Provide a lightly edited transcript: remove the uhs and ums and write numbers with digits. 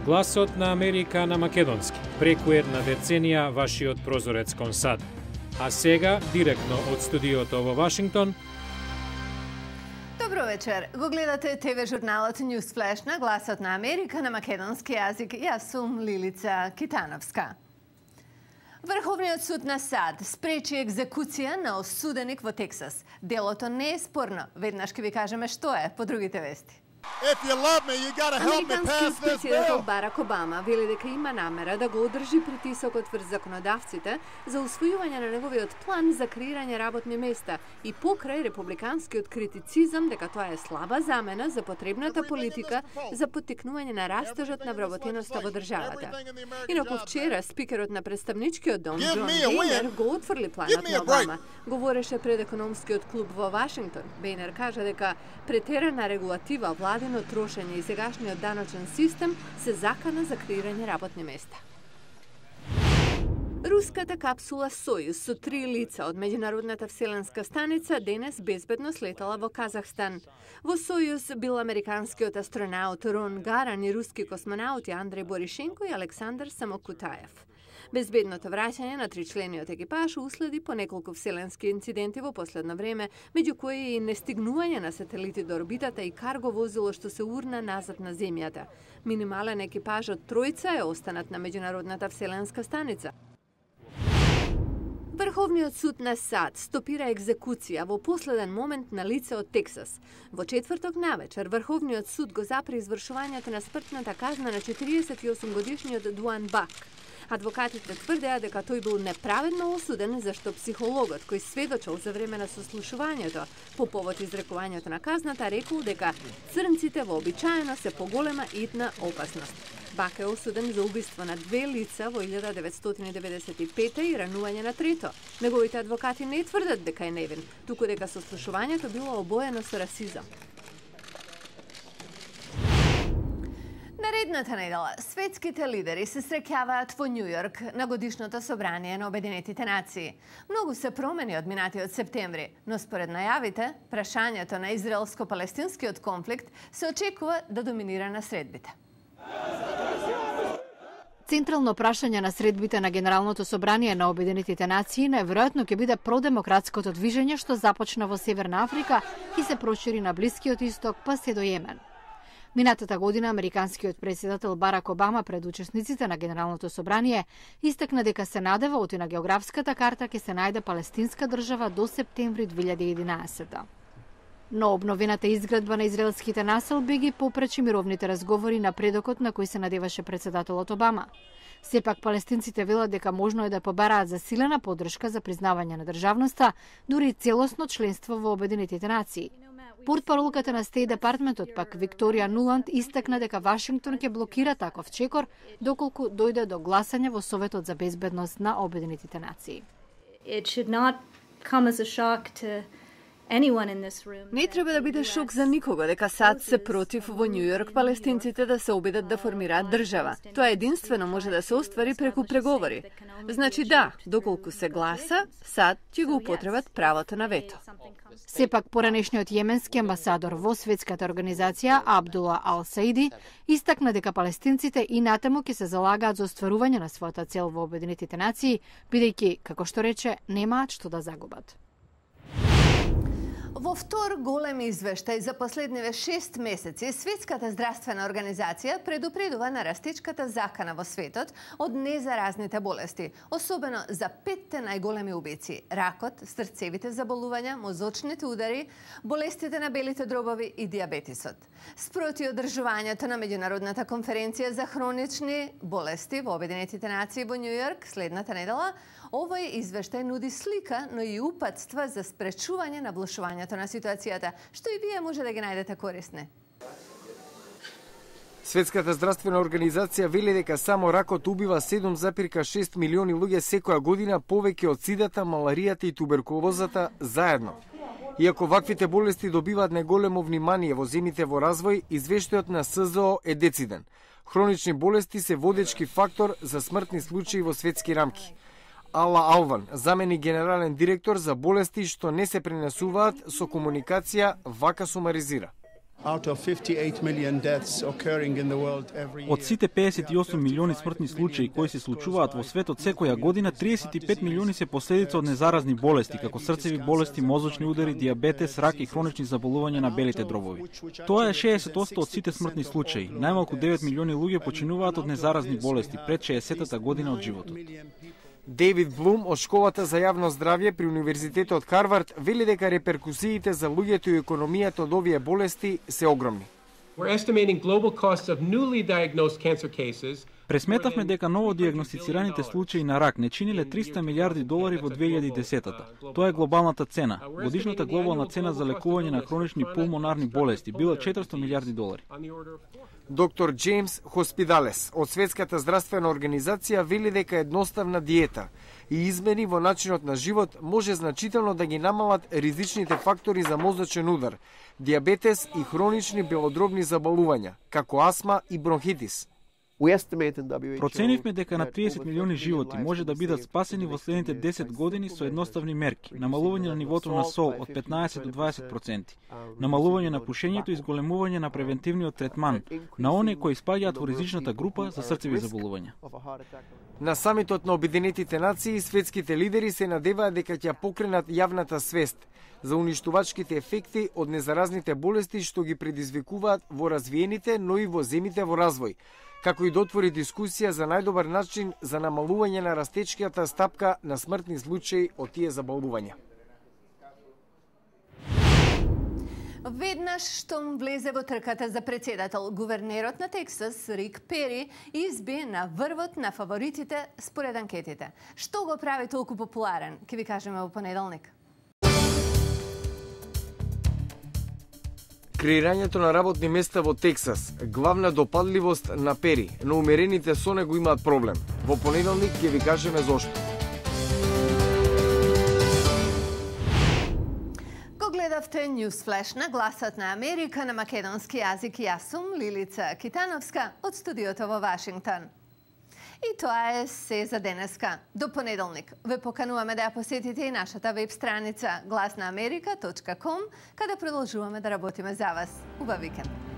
Гласот на Америка на македонски, преку една деценија вашиот прозорец кон САД. А сега, директно од студиото во Вашингтон. Добро вечер. Го гледате ТВ журналот News Flash на Гласот на Америка на македонски јазик. Јас сум Лилица Китановска. Врховниот суд на САД спречи екзекуција на осуденик во Тексас. Делото не е спорно. Веднаш ќе ви кажеме што е по другите вести. Американскиот председател Барак Обама вели дека има намера да го одржи притисокот врз законодавците за усвојување на неговиот план за креирање работни места и покрај републиканскиот критицизам дека тоа е слаба замена за потребната политика за поттикнување на растежот на вработеноста во државата. Инаку вчера спикерот на представничкиот дом Џон Бейнер го отфрли планот на Обама. Говореше пред економскиот клуб во Вашингтон. Бейнер кажа дека претерана регулатива, владино трошење и сегашниот даночен систем се закана за креирање работни места. Руската капсула Сојуз со 3 лица од меѓународната вселенска станица денес безбедно слетала во Казахстан. Во Сојуз бил американскиот астронаут Рон Гаран и руски космонаути Андрей Боришенко и Александар Самокутаев. Безбедното враќање на тричлениот екипаж уследи по неколку вселенски инциденти во последно време, меѓу кои и нестигнување на сателити до орбитата и карго возило што се урна назад на земјата. Минимален екипаж од тројца е останат на меѓународната вселенска станица. Врховниот суд на САД стопира екзекуција во последен момент на лице од Тексас. Во четврток навечер Врховниот суд го запре извршувањето на смртната казна на 48-годишниот Дуан Бак. Адвокатите тврдеа дека тој бил неправедно осуден зашто психологот кој сведочел за време на сослушувањето по повод изрекувањето на казната рекол дека црнците вообичаено се поголема итна опасност. Бак е осуден за убиство на 2 лица во 1995 и ранување на трето. Неговите адвокати не тврдат дека е невин, туку дека сослушувањето било обоено со расизам. Наредната недела, светските лидери се среќаваат во Њу Јорк на годишното собрание на Обединетите нации. Многу се промени од минатиот септември, но според најавите, прашањето на израелско-палестинскиот конфликт се очекува да доминира на средбите. Централно прашање на средбите на Генералното собрание на Обединетите нации најверојатно ќе биде продемократското движење што започна во Северна Африка и се прошири на Блискиот исток па се до Јемен. Минатата година американскиот председател Барак Обама пред учесниците на Генералното собрание истакна дека се надева оти на географската карта ќе се најде палестинска држава до септември 2011. Но обновената изградба на израелските населби ги попречи мировните разговори на предокот на кој се надеваше председателот Обама. Сепак палестинците велат дека можно е да побараат засилена поддршка за признавање на државноста, дури целосно членство во Обединетите нации. Портпаролката на Стејт департментот пак Викторија Нуланд истакна дека Вашингтон ќе блокира таков чекор доколку дојде до гласање во Советот за безбедност на Обединетите нации. Не треба да биде шок за никого дека САД се против во Њу Јорк палестинците да се обидат да формираат држава. Тоа единствено може да се оствари преку преговори. Значи да, доколку се гласа, САД ќе го употребат правото на вето. Сепак поранешниот јеменски амбасадор во светската организација Абдула Ал Саиди истакна дека палестинците и натаму ќе се залагаат за остварување на својата цел во Обединетите нации, бидејќи, како што рече, немаат што да загубат. Во втор голем извештај за последниве 6 месеци, Светската здравствена организација предупредува на растечката закана во светот од незаразните болести, особено за 5 најголеми убици – ракот, срцевите заболувања, мозочните удари, болестите на белите дробови и диабетисот. Спроти одржувањето на меѓународната конференција за хронични болести во Обединетите нации во Њу Јорк следната недела, овој извештај нуди слика, но и упатства за спречување на влошувањето на ситуацијата, што и вие може да ги најдете корисни. Светската здравствена организација вели дека само ракот убива 7,6 милиони луѓе секоја година повеќе од сидата, маларијата и туберкулозата заедно. Иако ваквите болести добиваат најголемо внимание во земјите во развој, извештајот на СЗО е дециден. Хронични болести се водечки фактор за смртни случаи во светски рамки. Ала Алван, заменик генерален директор за болести што не се пренесуваат со комуникација, вака сумаризира. Од сите 58 милиони смртни случаи кои се случуваат во светот секоја година, 35 милиони се последица од незаразни болести, како срцеви болести, мозочни удари, дијабетес, рак и хронични заболувања на белите дробови. Тоа е 60% од сите смртни случаи. Најмалку 9 милиони луѓе починуваат од незаразни болести пред 60-та година од животот. Дейвид Блум од Школата за јавно здравје при Универзитетот Харвард вели дека реперкусиите за луѓето и економијата од овие болести се огромни. Пресметавме дека новодиагностицираните случаи на рак не чиниле $300 милиарди во 2010-та. Тоа е глобалната цена. Годишната глобална цена за лекување на хронични пулмонарни болести била $400 милиарди. Доктор Джеймс Хоспидалес од Светската здравствена организација вели дека едноставна диета и измени во начинот на живот може значително да ги намалат ризичните фактори за мозочен удар, дијабетес и хронични белодробни заболувања, како астма и бронхитис. Проценивме дека на 30 милиони животи може да бидат спасени во следните 10 години со едноставни мерки: намалување на нивото на сол од 15 до 20%, намалување на пушењето и зголемување на превентивниот третман на оние кои спаѓаат во ризичната група за срцеви заболувања. На самитот на Обединетите нации, светските лидери се надеваат дека ќе покренат јавната свест за уништувачките ефекти од незаразните болести што ги предизвикуваат во развиените, но и во земите во развој, како и да отвори дискусија за најдобар начин за намалување на растечката стапка на смртни случаи од тие заболувања. Веднаш штом влезе во трката за председател, гувернерот на Тексас, Рик Пери, изби на врвот на фаворитите според анкетите. Што го прави толку популарен? Ке ви кажеме во понеделник. Креирањето на работни места во Тексас, главна допадливост на Пери, но умерените со него имаат проблем. Во понеделник ќе ви кажеме зошто. Го гледавте Newsflash на Гласот на Америка на македонски јазик. Јас сум Лилица Китановска од студиото во Вашингтон. И тоа е се за денеска. До понеделник ве покануваме да ја посетите и нашата веб страница glasnaamerika.com, каде продолжуваме да работиме за вас. Убав викенд!